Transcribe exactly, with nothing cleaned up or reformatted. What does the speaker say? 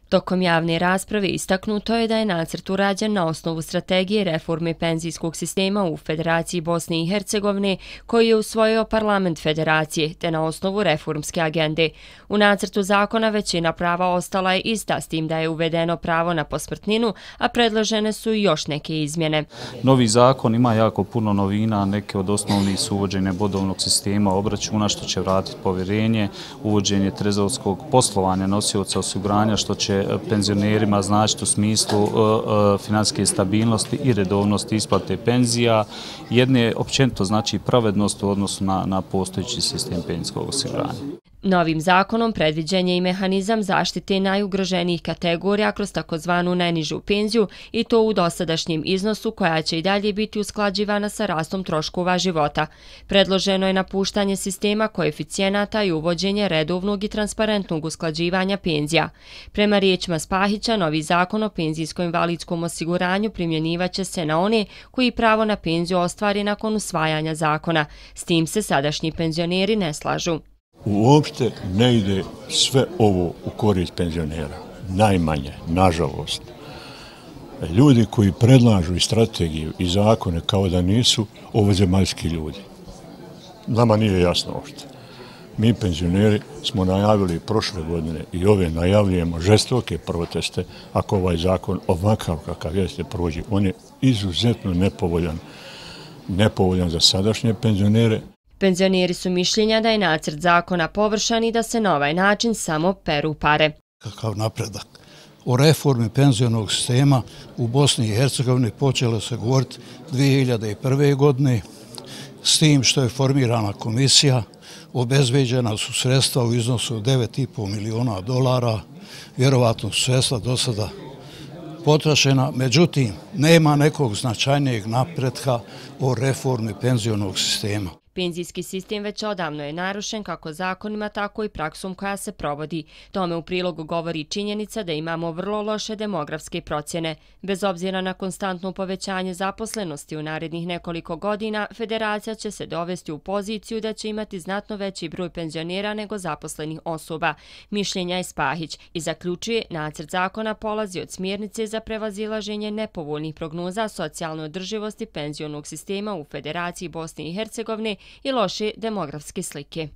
Tokom javne rasprave istaknuto je da je nacrt urađen na osnovu strategije reforme penzijskog sistema u Federaciji Bosne i Hercegovine koji je usvojio parlament federacije, te na osnovu reformske agende. U nacrtu zakona većina prava ostala je ista, s tim da je uvedeno pravo na posmrtninu, a predložene su i još neke izmjene. Novi zakon ima jako puno novina, neke od osnovnih su uvođenje bodovnog sistema obračuna što će vratiti povjerenje, uvođenje trezorskog poslovanja nosioca osiguranja što će penzionerima značiti u smislu uh, uh, financijske stabilnosti i redovnosti isplate penzija. Jedne općenito znači pravednost u odnosu na, na postojeći sistem penzijskog osiguranja. Novim zakonom predviđen je i mehanizam zaštite najugroženijih kategorija kroz takozvanu najnižu penziju i to u dosadašnjem iznosu koja će i dalje biti usklađivana sa rastom troškova života. Predloženo je napuštanje sistema koeficijenata i uvođenje redovnog i transparentnog usklađivanja penzija. Prema riječima Spahića, novi zakon o penzijsko-invalidskom osiguranju primjenjivaće se na one koji pravo na penziju ostvari nakon usvajanja zakona. S tim se sadašnji penzioneri ne slažu. Uopšte ne ide sve ovo u korist penzionera. Najmanje, nažalost. Ljudi koji predlažu i strategiju i zakone kao da nisu ovozemaljski ljudi. Nama nije jasno uopšte. Mi penzioneri smo najavili prošle godine i ove najavljujemo žestoke proteste ako ovaj zakon ovakav kakav jeste prođe. On je izuzetno nepovoljan, nepovoljan za sadašnje penzionere. Penzioneri su mišljenja da je nacrt zakona površan i da se na ovaj način samo peru pare. Kakav napredak. O reformi penzionog sistema u Bosni i Hercegovini počelo se govoriti dvije hiljade prve. godine, s tim što je formirana komisija, obezbeđena su sredstva u iznosu od devet i po miliona dolara, vjerovatno su sredstva do sada potrošena, međutim, nema nekog značajnijeg napretka o reformi penzionog sistema. Penzijski sistem već odavno je narušen kako zakonima, tako i praksom koja se provodi. Tome u prilogu govori činjenica da imamo vrlo loše demografske procjene. Bez obzira na konstantno povećanje zaposlenosti u narednih nekoliko godina, federacija će se dovesti u poziciju da će imati znatno veći broj penzionera nego zaposlenih osoba. Mišljenja je Spahić i zaključuje nacrt zakona polazi od smjernice za prevazilaženje nepovoljnih prognoza socijalne održivosti penzionog sistema u Federaciji Bosne i Hercegovine i loše demografske slike.